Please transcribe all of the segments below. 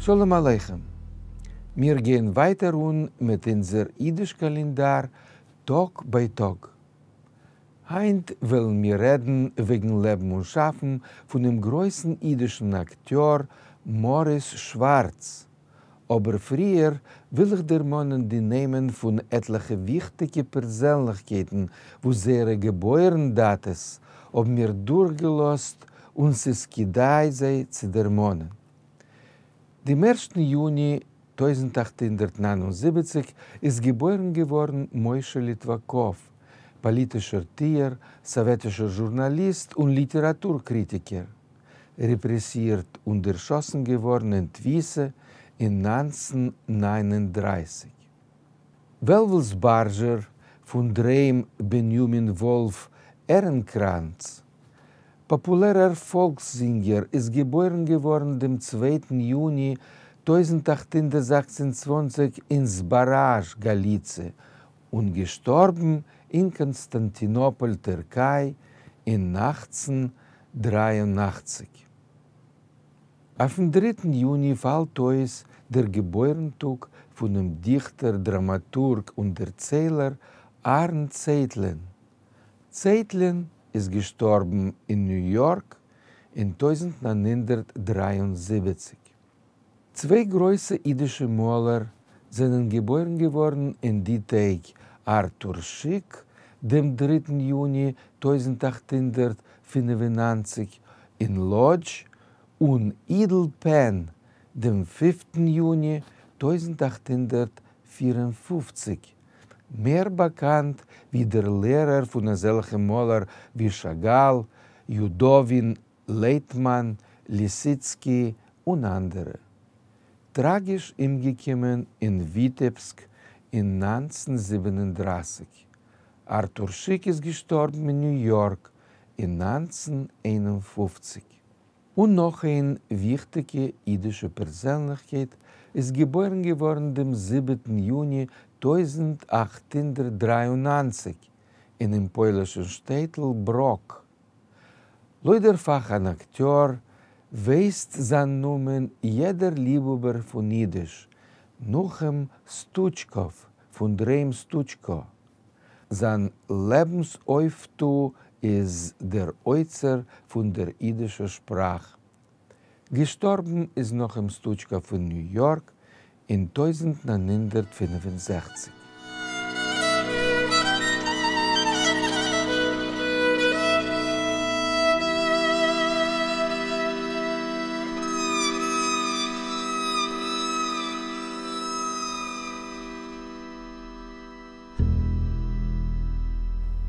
שלום עליכם! מיר גייען ווייטער אן מיט אונזער אידיש קאלענדאר טאג ביי טאג. היינט וועלן מיר רעדן וועגן לעבן און שאפן פונעם גרויסן אידישן אקטיאר מאריס שווארץ, אבער פריער וויל איך דערמאנען די נעמען פון עטליכע וויכטיגע פערזענליכקייטן וואס זייערע געבוירן דאטעס האבן מיר דורכגעלאזט און ס'איז כדאי זיי צו דערמאנען. דעם ערשטן יוני 1879 איז געבוירן געווארן משה ליטוואקאוו, פאליטישער טוער, סאוועטישער זשורנאליסט און ליטעראטור קריטיקער. רעפרעסירט און דערשאסן געווארן אין תפיסה אין 1939. וועלוול זבארזשער, פון דר'היים בנימין וואלף עהרנקראנץ, פאפולערער פאלקס-זינגער איז געבוירן געווארן דעם צווייטן יוני 1826 אין זבאראזש, גאליציע, און געשטארבן אין קאנסטאנטינאפאל, טערקיי, אין 1883. אויפן דריטן יוני פאלט אויס דער געבוירן-טאג פונעם דיכטער, דראמאטורג און דערציילער אהרן צייטלין. צייטלין איז געשטארבן אין ניו יארק אין 1973. צוויי גרויסע אידישע מאלער זענען געבוירן געווארן אין די טעג, ארטור שיק, דעם דריטן יוני 1895 אין לאדזש, און אידל פען, דעם פיפטן יוני 1854, מער באקאנט ווי דער לערער פון אזעלכע מאלער ווי שאגאל, יודאווין, לייטמאן, ליסיצקי און אנדערע. טראגיש אומגעקומען אין וויטעבסק אין 1937. ארטור שיק איז געשטארבן אין ניו יארק אין 1951. און נאך איין וויכטיגע אידישע פערזענליכקייט איז געבוירן געווארן דעם זיבעטן יוני 1893 אינעם פוילישן שטעטל בראק. לויט דער פאך אן אקטיאר, ווייסט זיין נאמען יעדער ליבהאבער פון אידיש, נחום סטוטשקאוו פון דר'היים סטוטשקא. זיין לעבנס אויפטו איז דער אוצר פון דער אידישער שפראך. געשטארבן איז נחום סטוטשקאוו אין ניו יארק אין 1965.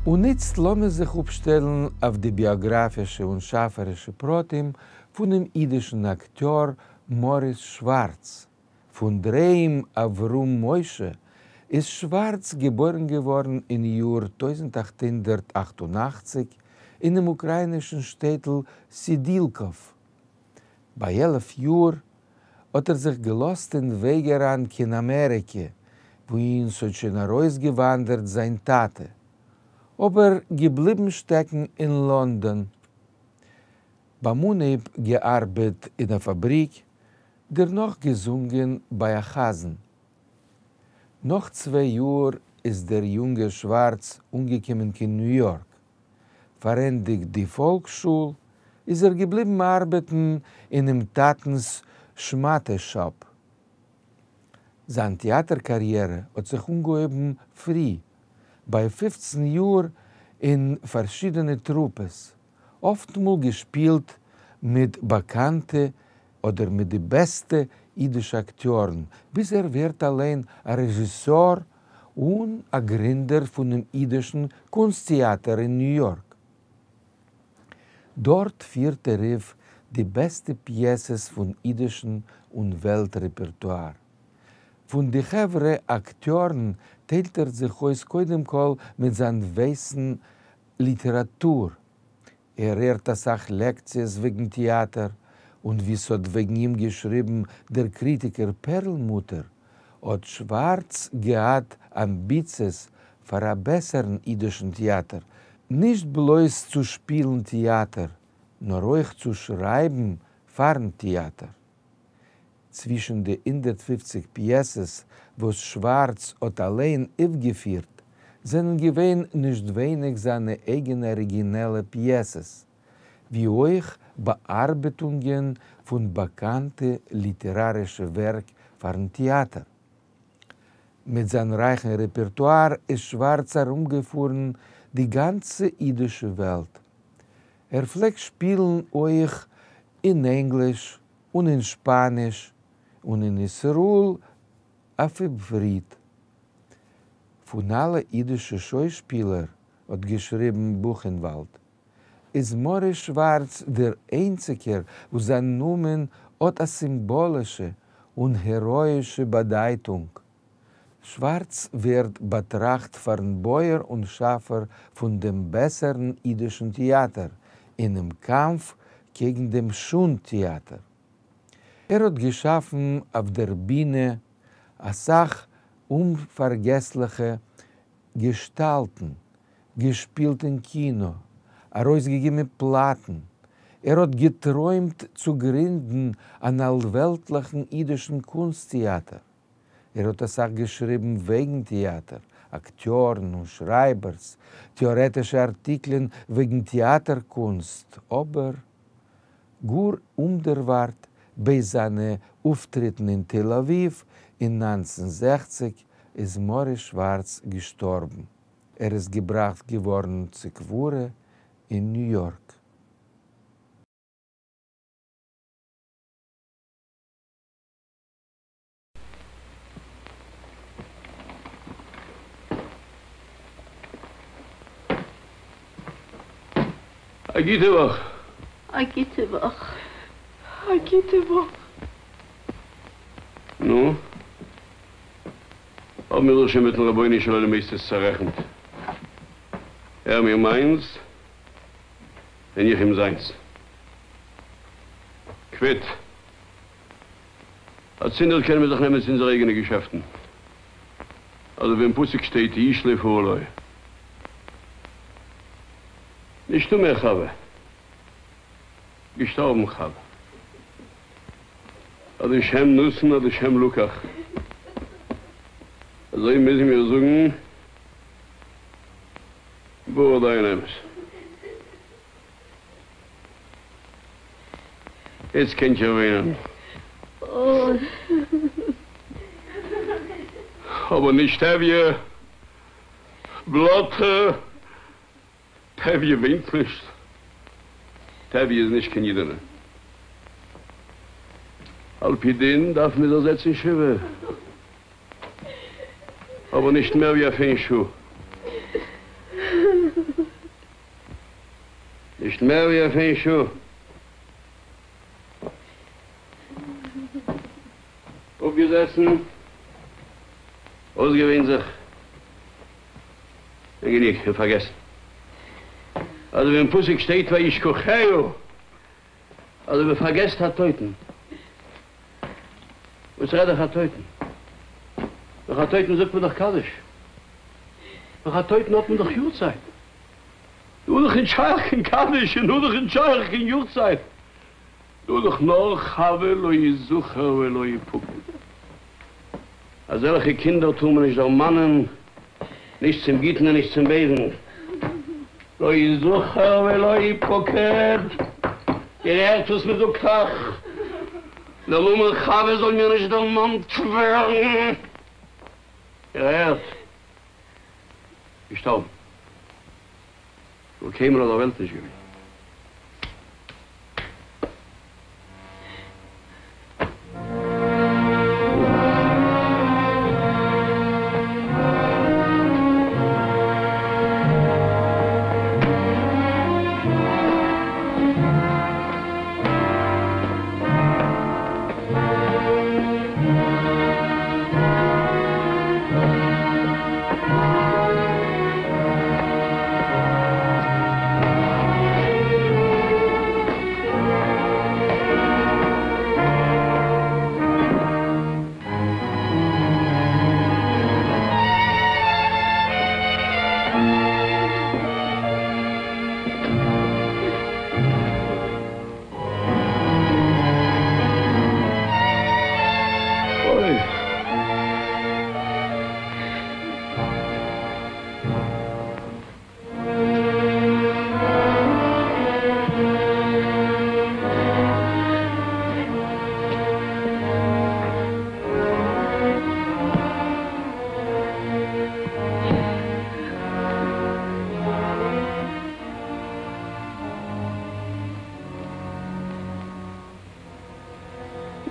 און איצט לאמיר זיך אפשטעלן אויף די ביאגראפישע און שאפערישע פרטים פונעם אידישן אקטיאר מאריס שווארץ. פון דר'היים אברהם משה איז שווארץ געבוירן געווארן אין יאר 1888 אינעם אוקראינישן שטעטל סידילקאוו. ביי 11 יאר האט ער זיך געלאזט אין וועג אריין קיין אמעריקע, וואוהין ס'האט שוין ארויסגעוואנדערט זיין טאטע, אבער געבליבן שטעקן אין לאנדאן. ביים אנהייב געארבעט אין א פאבריק, דערנאך געזונגען ביי א חזן. נאך צוויי יאר איז דער יונגער שווארץ אנגעקומען קיין ניו יארק. פארענדיגט די פאלקס-שול, איז ער געבליבן ארבעטן אינעם טאטנ'ס שמאטע שאפ. זיין טעאטער קאריערע האט זיך אנגעהויבן פרי, ביי 15 יאר אין פארשידענע טרופעס, אפטמאל געשפילט מיט באקאנטע אדער מיט די בעסטע אידישע אקטיארן, ביז ער ווערט אליין א רעזשיסאר און א גרינדער פונעם אידישן קונסט טעאטער אין ניו יארק. דארט פירט ער אויף די בעסטע פיעסעס פון אידישן און וועלט רעפערטואר. פון די חברה אקטיארן טיילט ער זיך אויס קודם כל מיט זיין וויסן ליטעראטור. ער הערט אסאך לעקציעס וועגן טעאטער, און ווי ס'האט וועגן אים געשריבן דער קריטיקער פערלמוטער, האט שווארץ געהאט אמביציעס פאר א בעסערן אידישן טעאטער, נישט בלויז צו שפילן טעאטער, נאר אויך צו שרייבן פארן טעאטער. צווישן די 150 פּיעסעס, וואָס שוואַרץ האָט אַליין אויפֿגעפֿירט, זענען געווען נישט ווייניק זײַנע אייגענע אָריגינעלע פּיעסעס, ווי אויך באַאַרבעטונגען פֿון באַקאַנטע ליטעראַרישע ווערק פֿאַרן טעאַטער. מיט זײַן רײַכן רעפּערטואַר איז שוואַרץ אַרומגעפֿאָרן די גאַנצע ייִדישע וועלט. ער פֿלעגט שפּילן אויך אין ענגליש און אין שפּאַניש און אין ישׂראל אויף עבֿריתּ. פֿון אַלע ייִדישע שוישפּילער, האָט געשריבן בוכענוואַלד, איז מאָריס שוואַרץ דער איינציקער, וואָס זײַן נאָמען האָט אַ סימבאָלישע און העראָיִשע באַדײַטונג. שוואַרץ ווערט באַטראַכט פֿאַרן בויער און שאַפֿער פֿון דעם בעסערן ייִדישן טעאַטער אינעם קאַמף קעגן דעם שונד-טעאַטער. ער האָט געשאַפֿן אויף דער בינע אַ סך אומפֿאַרגעסלעכע געשטאַלטן, געשפּילט אין קינאָ, אַרויסגעגעבן פּלאַטן. ער האָט געטרוימט צו גרינדן אַן אַלוועלטלעכן ייִדישן קונסט-טעאַטער. ער האָט אַ סך געשריבן וועגן טעאַטער, אַקטיאָרן און שרײַבערס, טעאָרעטישע אַרטיקלען וועגן טעאַטער-קונסט, אָבער גאָר אומדערוואַרט בעת זײַנע אויפֿטריטן אין תּל-אָבֿיבֿ אין 1960 איז מאָריס שוואַרץ געשטאָרבן. ער איז געבראַכט געוואָרן צו קבֿורה אין ניו-יאָרק. א גוטע וואך. א גוטע וואך. א גוטע וואך. נו, האבן מיר זיך שוין מיטן רבונו של עולם איצטערט צערעכנט. ער מיר מיינס, און איך אים זיינס. קוויט. אצינדערט קענען מיר זיך נעמען צו אונזערע אייגענע געשעפטן. אזוי ווי אין פסוק שטייט איש לפעלו. נישטא מער חוה. געשטארבן חוה. אז השם נתן אז השם לקח. אזוי מוזן מיר זאגן ברוך דיין האמת. איצט קענט איר וויינען. אבער נישט טביה. בלאטע. טביה וויינט נישט. טביה איז נישט קיין אידענע. על פי דין דארף מען זיך זעצן שבעה. אבער נישט מער ווי אויף איין שעה. נישט מער ווי אויף איין שעה. אפגעזעסן, אויסגעוויינט זיך, און גענוג, און פארגעסן. אזוי ווי אין פסוק שטייט וישכחה, אזוי מען פארגעסט א טויטן. וואס רעד איך א טויטן? נאך א טויטן זאגט מען דאך קדיש. נאך א טויטן האט מען דאך יארצייט. דא איז דאך נישט שייך קיין קדיש און דא איז דאך נישט שייך קיין יארצייט. דא איז דאך נאר חוה לא יזכר ולא יפקד. אזעלכע קינדער טאר מען נישט דערמאנען, נישט צום גוטן און נישט צום בייזן. לא יזכר ולא יפקד. איר הערט וואס מען זאגט אייך? דער נאמען חוה זאל מיר נישט דערמאנט ווערן. איר הערט? געשטארבן. זאל קיינמאל אויף דער וועלט נישט געווען.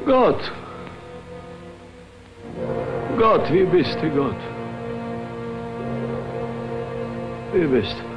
גאָט! גאָט, וואו ביסטו, גאָט? וואו ביסטו?